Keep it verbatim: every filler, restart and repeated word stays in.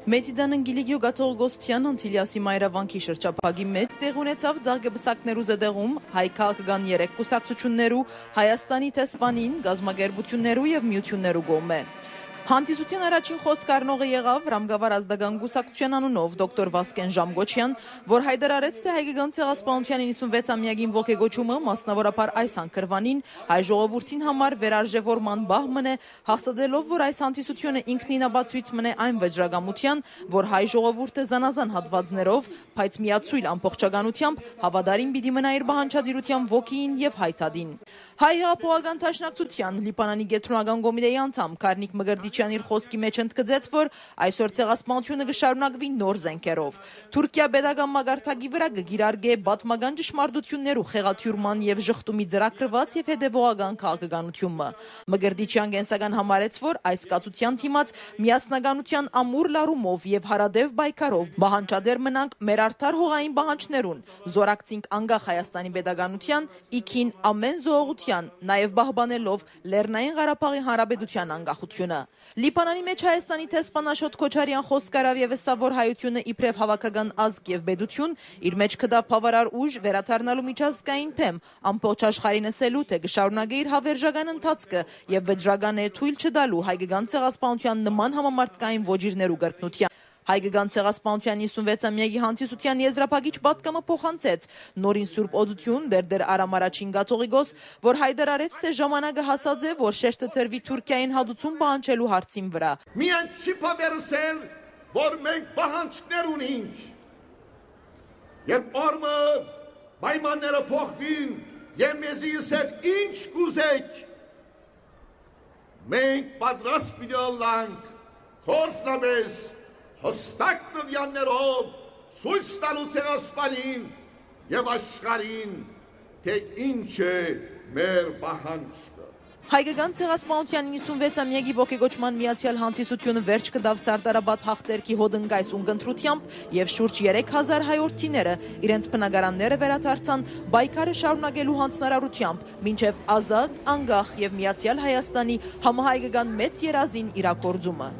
Մեծիդանն Գիլիգիո Գաթողգոսթյան Անտիլիասի մայրավանքի շրջափակի մեջ տեղ ունեցավ ձաղգբսակներու զդեղում հայ քաղաքական երեք կուսակցություններու, Հայաստանի տեսփանին, գազམ་ագերբություններու եւ միություններու գոմե։ Հանդիսության առաջին խոսք առնողը եղավ Ռամգավար ազգական կուսակցության անունով դոկտոր Վասկեն Ժամգոչյան, որ հայտարարեց, թե հայկական ցեղասպանության իննսունվեցամյակին ողեգոճումը մասնավորապես այս անկրվանին հայ ժողովրդին համար վերարժևորման բահ մնե, հաստատելով, որ այս հանդիսությունը ինքնինաբացույց մնե այն վճռագամության, որ հայ ժողովուրդը զանազան հատվածներով, բայց միացույլ ամբողջականությամբ հավատարիմ պիտի մնա իր բանջարդիրության ոգին եւ հայտադին։ Հայ հեղափոխական դաշնակցության Լիբանանի գետրոնական կոմիտեի անդամ Կարնիկ Մգրդիչյան իր խոսքի մեջ ընդգծեց, որ այսօր ցեղասպանությունը կշարունակվի նոր զենքերով։ Թուրքիա պետական մագարտակի վրա կգիրարգե պատմական ճշմարտություններու խեղաթյուրման եւ ժխտումի ծրագրված եւ հետեւողական քաղաքականությունը։ Մգրդիչյան կենսական համարեց, որ այս կացության թիմած միասնականության ամուր լարումով եւ հարադեվ բայկարով բանջադեր մնանք մեր արդար հողային բանջներուն, զորակցինք անկախ Հայաստանի պետականության, իքին ամեն զողության, նաեւ բահբանելով Լեռնային Ղարաբաղի Հանրապետության անկախությունը։ Լիբանանի մեջ Հայաստանի տեսփան Աշոտ Քոչարյան խոսքարավ եւ ասա, որ հայությունը իբրև հավաքական ազգ եւ պետություն իր մեջ կդա բավարար ուժ վերադառնալու միջազգային փեմ, ամբողջ աշխարհին ասելու, թե կշարունակի իր հավերժական ընթացքը եւ վճռական է թույլ չտալու հայկական ցեղասպանության նման համամարտկային ոճիրներու կրկնության։ Հայկական ցեղասպանության իննսունվեցամյակի հանդիսության եզրափակիչ պատգամը փոխանցեց նորին Սուրբ Օծություն դերդեր Արամ առաջին Գաթողիկոս, որ հայտարարեց, թե ժամանակը հասած է, որ շեշտը տրվի Թուրքիային հատուցում պահանջելու հարցին վրա։ Միայն չի բերսել, որ մենք պահանջներ ունենք։ Երբ օրը պայմանները փոխվին, եւ մեզի ասել ինչ կուզեք, մենք պատրաստ պիտի լինենք խորսնամես հստակ տվյալներով ցույց տալու ցեղասպանին եւ աշխարհին, թե ինչ է մեր պահանջը։ Հայկական ցեղասպանության իննսունվեցամյակի ողեգոճման միացյալ հանդիսությունը վերջ կդավ Սարդարաբադ հաղթերքի հոդնգայս ունկնդրությամբ եւ շուրջ երեք հազար հայորդիները իրենց բնակարանները վերադարձան բայկարը շարունակելու հանձնարարությամբ, մինչեւ ազատ, անկախ եւ միացյալ Հայաստանի համահայկական մեծ երազին իրագործումը։